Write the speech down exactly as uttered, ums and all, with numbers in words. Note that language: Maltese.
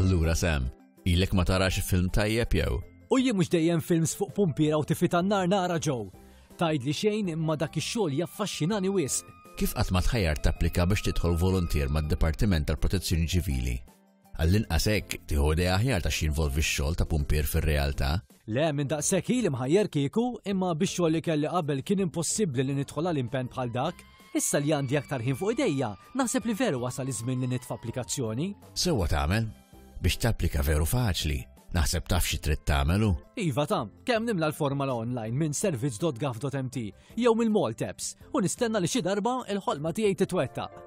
Allura Sam, ilek ma tarax film tajjeb jew? U jien mhux dejjem films fuq pumpiera u tifi tan-nar nara ġew. Tgħidli xejn imma dak ix-xogħol jaffaxxinani wisq. Kif qatt ma tħajjar tapplika biex tidħol volontier mad-Dipartiment tal-Protezzjoni Ċivili? Għall-inqas hekk tieħu idea aħjar ta' x'jinvolvi x-xogħol ta' pumpier fir-realtà. Le, minn daqshekk ili mħajjer kieku, imma bix-xogħol li kelli qabel kien impossibbli li nidħol għal impenn bħal dak. Issa li għandi aktar ħin fuq idejja, naħseb li veru wasal iż-żmien li nitfa' applikazzjoni. Sewwa tagħmel biex tapplika veru faċli. Naħseb taf xi trid tagħmelu. Iva ta' kemm nimla l-formola online minn servizz.gov.mt jew mill-Malteps u nistenna li xi darba il-ħolma tiegħi titwettaq.